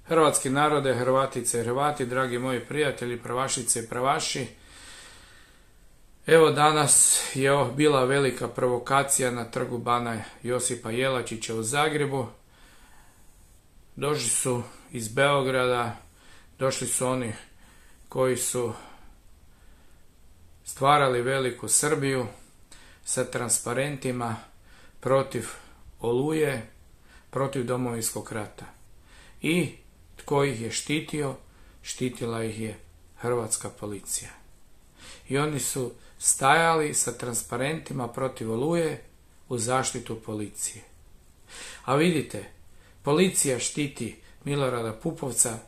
Hrvatski narode, Hrvatice i Hrvati, dragi moji prijatelji, pravašice i pravaši. Evo danas je bila velika provokacija na trgu Bana Josipa Jelačića u Zagrebu. Došli su iz Beograda, došli su oni koji su stvarali veliku Srbiju sa transparentima protiv Oluje, protiv Domovinskog rata. I tko ih je štitio? Štitila ih je hrvatska policija. I oni su stajali sa transparentima protiv Oluje u zaštitu policije. A vidite, policija štiti Milorada Pupovca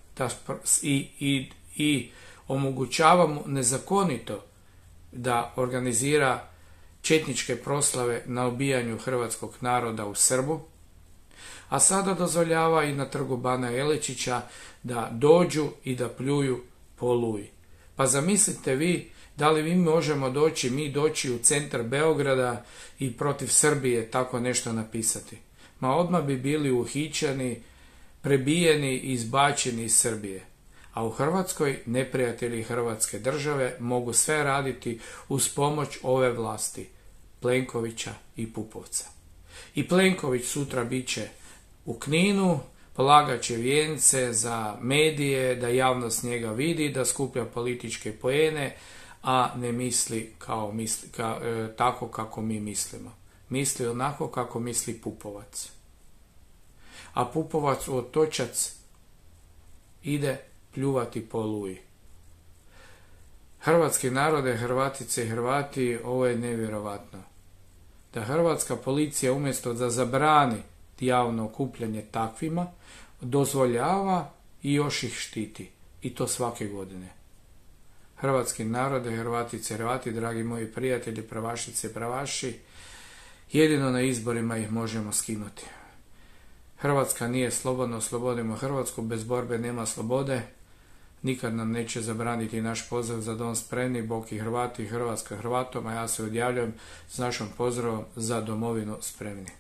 i omogućava mu nezakonito da organizira četničke proslave na ubijanju hrvatskog naroda u Srbu, a sada dozvoljava i na trgu Bana Jelačića da dođu i da pljuju po Oluji. Pa zamislite vi, da li mi možemo doći u centar Beograda i protiv Srbije tako nešto napisati? Ma odmah bi bili uhićeni, prebijeni i izbačeni iz Srbije. A u Hrvatskoj neprijatelji Hrvatske države mogu sve raditi uz pomoć ove vlasti, Plenkovića i Pupovca. I Plenković sutra bit će u Kninu, polagat će vijence za medije, da javnost njega vidi, da skuplja političke poene, a ne misli tako kako mi mislimo. Misli onako kako misli Pupovac. A Pupovac u Otočac ide pljuvati po Oluji. Hrvatski narode, Hrvatice i Hrvati, ovo je nevjerovatno. Da hrvatska policija umjesto da zabrani javno okupljanje takvima, dozvoljava i još ih štiti. I to svake godine. Hrvatski narode, Hrvatice i Hrvati, dragi moji prijatelji, pravašice i pravaši, jedino na izborima ih možemo skinuti. Hrvatska nije slobodna, oslobodimo Hrvatsku, bez borbe nema slobode. Nikad nam neće zabraniti naš pozdrav za dom spremni, Bog i Hrvati i Hrvatska Hrvatom, a ja se odjavljujem s našom pozdravom za domovinu spremni.